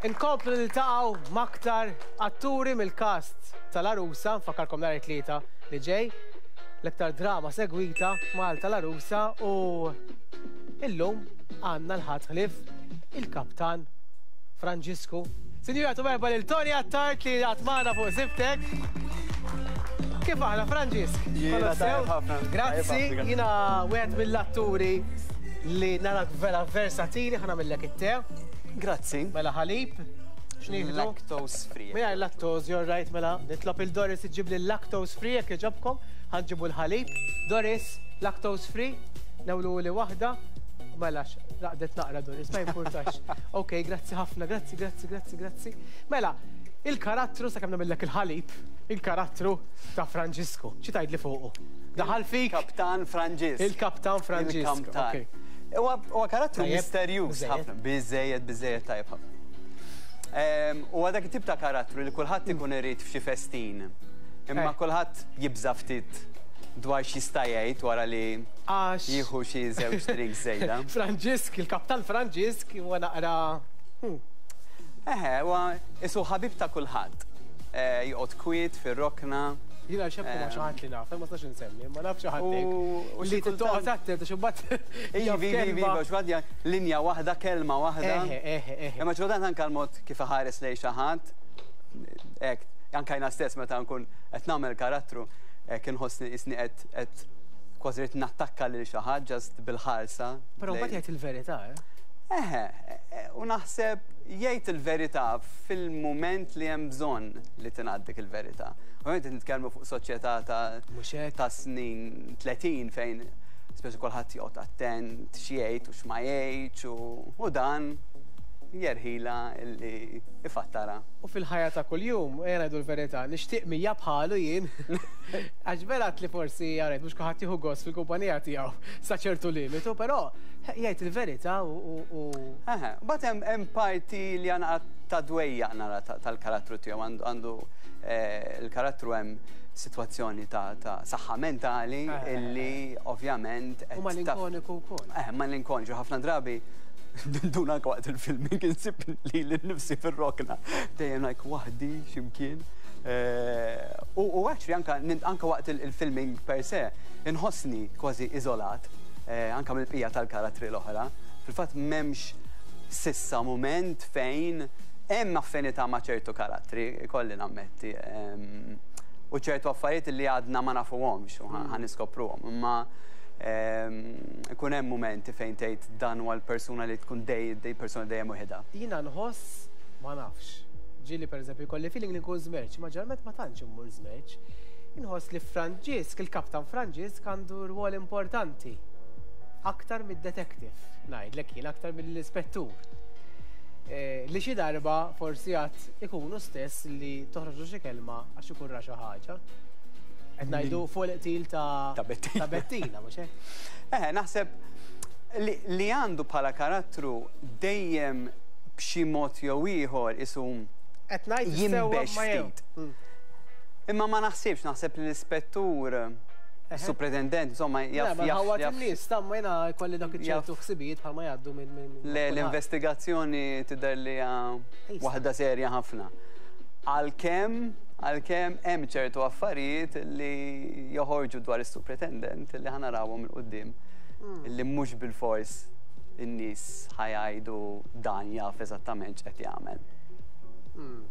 Inkomplu niltaqgħu m'aktar atturi mill-cast tal-Għarusa, nfakkarkom nhar it-Tlieta li ġej, l-iktar drama segwita f'Malta l-Għarusa u illum għandna l-ħadd ħlief il-Kaptan Franġisku. Sinjuri għatu merħba lil Tony Attard li għad magħna fuq Żibtek. Kif aħna Franġisk? Jiena tajjeb ħafna. Grazzi, jiena wieħed mill-atturi li narak vera versatili, ħa nagħmillek it-te. Grazzi. Mela ħalib. X'nieħdu? Lactose free. Mingħajr lactose, you're right, mela nitlob il Doris iġġib li lactose free jekk jogħġobkom, ħa nġibu l-ħalib. Doris, lactose free, newlu li waħda. Mela, raqdet naqra Doris, ma jimpurtax. Ok, grazzi ħafna, grazzi, grazzi, grazzi, grazzi. Mela, il-karattru, sakemm nagħmillek il-ħalib, il-karattru ta' Franġisku. Xi tgħidli fuqu? Daħal fik? Kaptan Franġisk. Il-Kaptan Franġisk. Il-Kaptan. Huwa karattru misterjuż ħafna. Biżejjed, biżejjed tajjeb ħafna. Huwa dak it-tip ta' karattru li kulħadd ikun irid f'xi festin. Imma eh. kulħadd jibża' ftit dwar x'jista' jgħid wara li jieħu xi żewġ drinks żejda. Franġisk, il-Kaptan Franġisk huwa naqra. Hmm. Eħe, huwa isu ħabib ta' kulħadd. Eh, joqgħod kwiet fir-rokna. Jiena xebku ma' xi ħadd li naf, ma nistax insemmi, ma naf xi ħadd hekk. Li toqgħod attent għax imbagħad. Ivi, ivi, ivi, għax mbagħad linja waħda, kelma waħda. Eħe, eħe, eħe. Imma xi kultant anke l-mod kif iħares lejn xi ħadd, hekk, anke jiena stess meta nkun qed nagħmel karattru, hekk inħossni qisni qed qed kważi rrid nattakka lil xi ħadd just bil-ħarsa. Però mbagħad jgħid il-verità, eh? Eħe, u naħseb jgħid il-verità fil-mument li hemm bżonn li tingħad dik il-verità. Ovvjament qed nitkellmu fuq soċjetà ta' ta' snin 30 fejn speċi kulħadd joqgħod attent x'jgħid u x'ma jgħidx u dan jerħila li ifattara. U fil-ħajja ta' kuljum, ejja ngħidu l-verità, nixtieq 100 bħalu jien. Għax vera li forsi għarajt mhux kulħadd jieħu gost fil-kumpanija tiegħu sa ċertu limitu, però jgħid il-verità u. Eħe, mbagħad hemm parti li għandha ta' dwejjaq nara tal-karattru tiegħu għandu eh, il-karattru hemm sitwazzjoni ta' saħħa mentali eh, eh, illi ovvjament U malinkoniku wkoll. Eh, malinkoniku ħafna drabi duna anke waqt il-filming insib li l-nifsi fir-rokna dejjem like waħdi x'imkien. U actually anka anka waqt il-filming per se inħossni kważi iżolat anka mill-bqija tal-karattri l-oħra. Fil-fatt m'hemmx s'issa mument fejn hemm affinità ma' ċertu karattri, ikolli nammetti, u ċertu affarijiet li għadna ma nafuhomx u ħa niskopruhom. Imma ikun hemm mumenti fejn tgħid dan huwa l-persuna li tkun dej, dej persuna dejjem waħedha. Jiena nħoss, ma nafx, ġieli pereżempju jkolli feeling li nkun żmerċ, imma ġeneralment ma tantx immur żmerċ. Inħoss li Franġisk, il-Kaptan Franġisk għandu rwol importanti. Aktar mid-detective, ngħidlek jien, aktar mill-ispettur. Eh, li xi darba forsi għad ikunu stess li toħroġu xi kelma għax ikun ra xi ħaġa. Qed ngħidu fuq il-qtil ta' ta' Bettina, mhux hekk? Eh, naħseb li għandu bħala karattru dejjem b'xi mod jew ieħor isu Qed ngħid jinbex ftit. Mm. Imma ma naħsibx, naħseb li l-ispettur Supretendent, insomma, jaf. Le, ma in-nies, tamma jena jkolli dak iċ-ċertu ħsibijiet bħalma jgħaddu minn. Le, l-investigazzjoni tidher li waħda serja ħafna. Għalkemm, għalkemm hemm ċertu affarijiet li joħorġu dwar is-supretendent li ħa narawhom 'il quddiem hmm. li mhux bilfors in-nies ħa jgħidu dan jaf eżattament x'qed jagħmel. Hmm.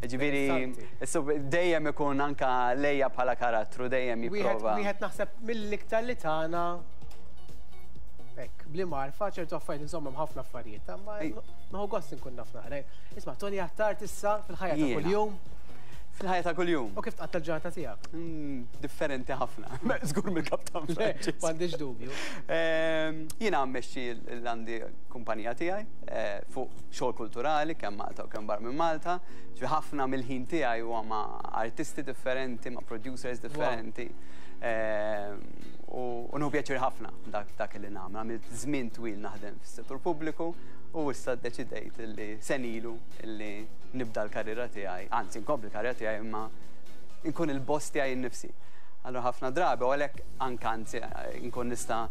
Ġifieri, dejjem ikun anka lejja bħala karattru, dejjem jipprova. Wieħed naħseb mill-iktar li tagħna hekk, bli marfa ċertu affarijiet insomma ħafna affarijiet, ma nieħu gost inkun naf naqra. Isma' Tony Attard issa fil-ħajja ta' kuljum. Fil-ħajja ta' kuljum. U kif tqatta' l-ġurnata tiegħek? Mm, differenti ħafna. Żgur mill-Kaptan Francis. M'għandix dubju. Ehm, jiena mmexxi l-għandi kumpanija tiegħi eh, fuq xogħol kulturali kemm Malta u kemm barra minn Malta. Ġifieri ħafna mill-ħin tiegħi huwa ma' artisti differenti, ma' producers differenti. Ehm, u nieħu pjaċir ħafna dak dak li nagħmel. Għamilt żmien twil naħdem fis-settur pubbliku u issa ddeċidejt li senilu li nibda l-karriera tiegħi, anzi nkompli l-karriera tiegħi imma nkun il-boss tiegħi nnifsi. Allura ħafna drabi u għalhekk anke anzi nkun nista'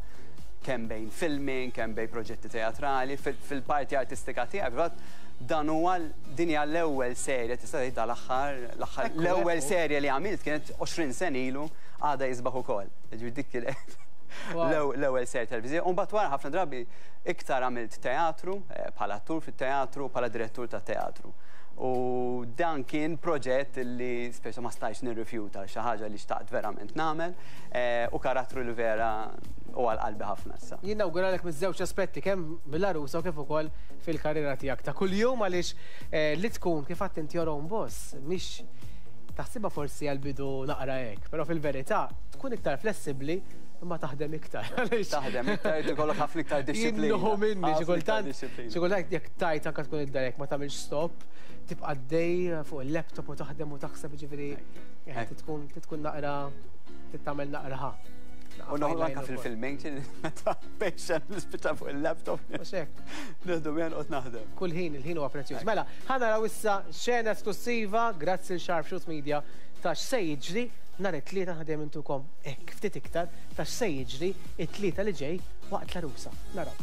Kemm bejn filming, kemm bejn proġetti teatrali, fil-parti artistika tiegħi, fil-fatt dan huwa din hija l-ewwel serje tista' tgħid dal-aħħar, l-aħħar, l-ewwel serje li għamilt kienet 20 sena ilu għadha jisbaħ ukoll. Jiġifieri dik kienet l-ewwel serje televiżiva. U mbagħad wara ħafna drabi iktar għamilt teatru, bħala attur fit-teatru, bħala direttur tat-teatru. U dan kien proġett li speċa ma stajtx nirrifjuta, xi ħaġa li xtaqt verament nagħmel u karattru li vera hu għal qalbi ħafna issa. Jien nawguralek miż-żewġ aspetti, kemm bil-għarusa u kif ukoll fil-karriera tiegħek ta' kuljum għaliex li tkun kif għedt inti your own boss mhix taħsibha forsi għall-bidu naqra hekk, però fil-verità tkun iktar flessibbli imma taħdem iktar għaliex. Taħdem iktar, irid ikollok ħafna iktar dixxiplina. Jien nieħu minni xi kultant, xi kultant jekk tgħid anke tkun id-dar jekk ma tagħmilx stop, tibqa' għaddej fuq il-laptop u taħdem u taħseb jiġifieri tkun tkun naqra trid tagħmel naqra ħa. U noħol anke fil-filming, meta patient nispiċċa fuq il-laptop. Mhux hekk. Nieħdu miegħi noqgħod naħdem. Kull ħin, il-ħin huwa prezzjuż. Mela, ħa naraw issa xena esklussiva grazzi l Sharp Shoot Media ta' x'se jiġri nhar it-Tlieta aħna dejjem intukom hekk ftit iktar ta' x'se jiġri t-Tlieta li ġej waqt l-għarusa. Naraw.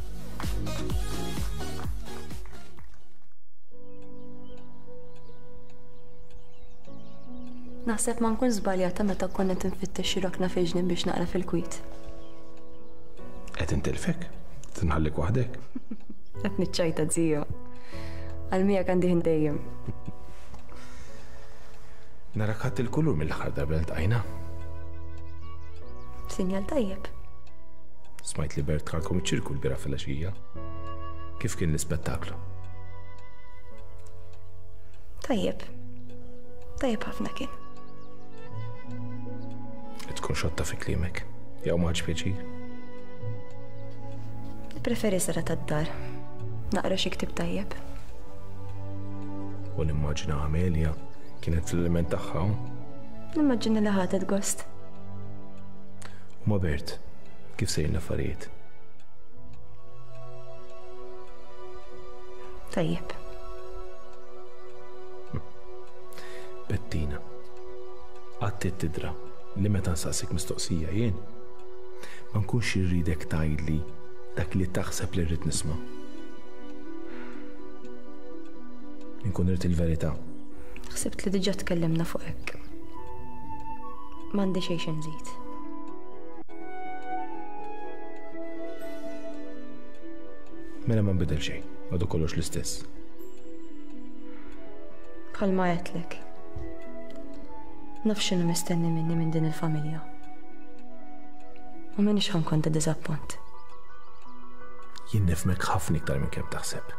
Naħseb ma nkunx żbaljata meta kont qed infittex xi rokna fil-ġnien biex naqra fil-kwiet. Qed intilfek? Tinħallik waħdek? Qed niċċajta zio. Għal miegħek għandi ħin dejjem. Narak ħadd il-kulur mill-aħħar darba li ltqajna. Sinjal tajjeb. Smajt li Bert tħalkom iċ-ċirku l-bira fil-għaxija. Kif kien l-ispettaklu? Tajjeb. Tajjeb ħafna kien. Tkun xotta fi kliemek. Jew ma ħadx pjaċir. Preferi sara tad-dar. Naqra xi ktieb tajjeb. U nimmaġina Amelia kienet fl-element tagħha. Nimmaġina li ħadet gost. U ma Bert, kif sejrin l-affarijiet? Tajjeb. Bettina, qatt tidra li meta nsaqsik mistoqsija jien, ma nkunx irridek tgħidli dak li taħseb li rrid nisma'. Inkun irrid il-verità. Ħsibt li diġà tkellimna fuq hekk. M'għandi xejn xi nżid. Mela ma nbidel xejn, għadu kollox l-istess. Bħalma għedtlek. Naf x'inhu mistenni minni minn din il-familja. U m'iniex ħa nkun ta' diżappunt. Jien nifhmek ħafna iktar minn kemm taħseb.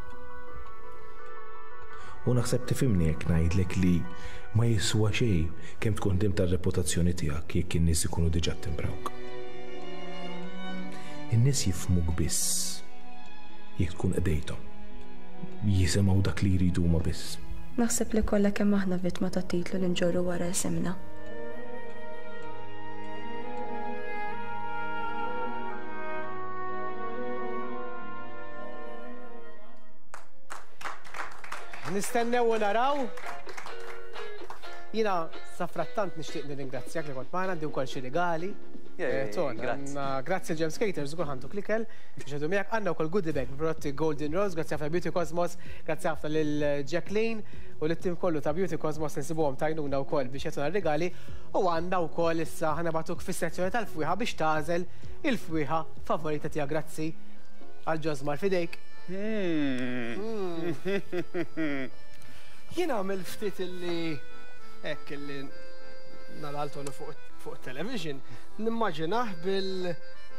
U naħseb tifhimni jekk ngħidlek li ma jiswa xejn kemm tkun ħdimt għar-reputazzjoni tiegħek jekk in-nies ikunu diġà ttimbrawk. In-nies jifhmuk biss jekk tkun qdejthom. Jisimgħu dak li jridu huma biss. Naħseb li kollha kemm aħna vittma tat-titlu li nġorru wara isimna. Nistennew u naraw. Jiena safrattant nixtieq nirringrazzjak li kont magħna, għandi wkoll xi rigali. Eh, Ton, grazzi James Cater, żgur ħantu klikel, biex għadu miegħek għandna wkoll goodie bag prodotti Golden Rose, grazzi ħafna Beauty Cosmos, grazzi ħafna lil Jacqueline u lit-tim kollu ta' Beauty Cosmos insibuhom tajnuna wkoll biex jagħtuna rigali u għandna wkoll issa ħanabatuk fis-sezzjoni tal-fwieħa biex tagħżel il-fwieħa favorita tiegħek grazzi għal Ġosmar fidejk. Jien għamil ftit illi hekk illi nara l Tony fuq television, nimmaġinah bil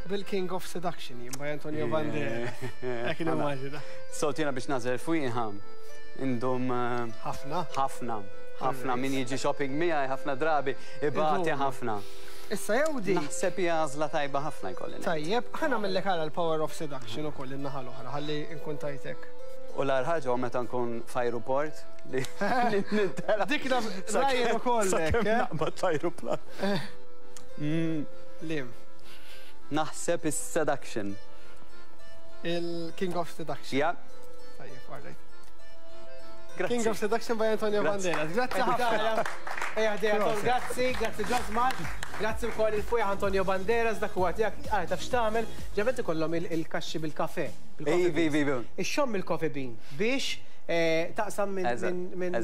bil-King of Seduction jien by Antonio Banderas. Hekk nimmaġina. Sot jiena biex nagħżel fwieħa indum eh, ħafna. Ħafna. Ħafna min jiġi shopping miegħi ħafna drabi ibati ħafna. Issa jew di. Naħseb hija għażla tajba ħafna jkolli. Tajjeb, ħa nagħmillek ara l-power of seduction ukoll in-naħa l-oħra ħalli nkun tajtek. U l-agħar ħaġa hu meta nkun f'ajruport li nintela'. Dik naf Ryan ukoll hekk, eh? Naqbad l-ajruplan. Liem? Naħseb is-seduction. Il-King of Seduction. Ja. Tajjeb, all right. King of Seduction by Antonio Banderas. Grazzi ħafna. Ejja ħdejja Tom, grazzi, grazzi Josmar, grazzi wkoll il-fwieħ Antonio Banderas dak huwa tiegħek, ara taf x'tagħmel, ġenet ikollhom il-kaxxi bil-kafè. Ivi, ivi, ivi. Ixxomm il-coffee bean biex taqsam minn minn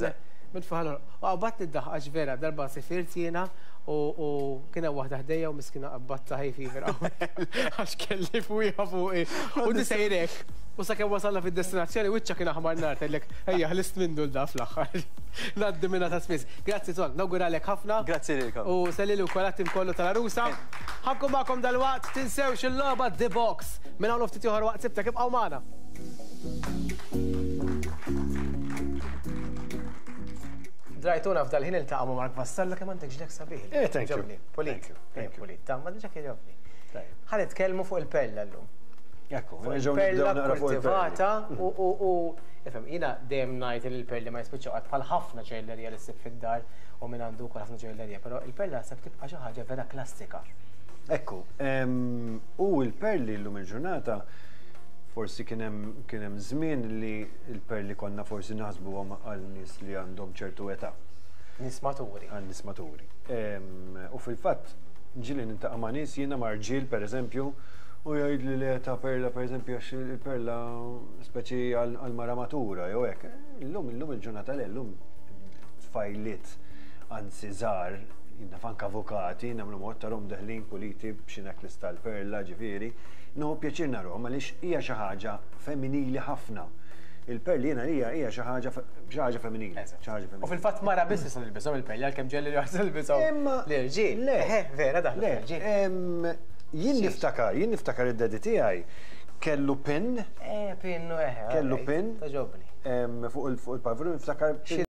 minn fuq għal U qabadtni d-daħqa għax vera darba sifirt jiena u kien hemm waħda ħdejja u miskina qabadtha hay fever qawwi għax kelli fwieħa fuqi. U di sejrek. U sakemm wasalna fid-destinazzjoni wiċċha kien aħmar nar tgħidlek ejja ħlist minnu 'l da fl-aħħar. Ngħaddi minnha ta' spiss. Grazzi Ton, nawguralek ħafna. Grazzi lilkom. U sellili wkoll għat-tim kollu tal-Għarusa. Ħa nkun magħkom dalwaqt, tinsewx il-logħba The Box. Minn hawn u ftit ieħor waqt Sibtek ibqgħu magħna. Drajtuna f'dal-ħin iltaqa' ma' Mark Vassallo kemm għandek ġlek sabiħ. Eh, thank you. Pulit. Pulit. Ta' ma diġà kien jogħġobni. Ħa nitkellmu fuq il-perla llum. Ekku, Fuq il-perla kultivata u ifhem, jiena dejjem ngħid li l-perli ma jispiċċaw qatt bħal ħafna ġojjellerija li ssib fid-dar u min għandu wkoll ħafna ġojjellerija, però il-perla naħseb tibqa' xi ħaġa vera klassika. Ekku, u l-perli llum il-ġurnata forsi kien hemm kien hemm żmien li l-perli konna forsi naħsbuhom għal nies li għandhom ċertu età. Nies maturi. Għal nies maturi. U fil-fatt ġieli niltaqa' ma' nies jiena ma' rġiel pereżempju u jgħidli le ta' perla pereżempju għax il-perla speċi għal mara matura jew hekk. Illum illum il-ġurnata le llum tfajliet anzi żgħar naf anke avukati nagħmlu mod tarhom deħlin puliti b'xi necklace tal-perla ġifieri. Nieħu pjaċir narahom għaliex hija xi ħaġa femminili ħafna. Il-perli jiena għalija hija xi ħaġa xi ħaġa femminili. Xi ħaġa femminili. U fil-fatt mara biss tista' tilbishom il-perli għalkemm ġieli li waħda tilbishom l-irġiel. Le. Eħe, vera daħlu fl-irġiel. Jien niftakar, jien niftakar id-daddy tiegħi kellu pin. Eh, pin, eħe. Kellu pin. Togħġobni. Fuq il-pavru niftakar.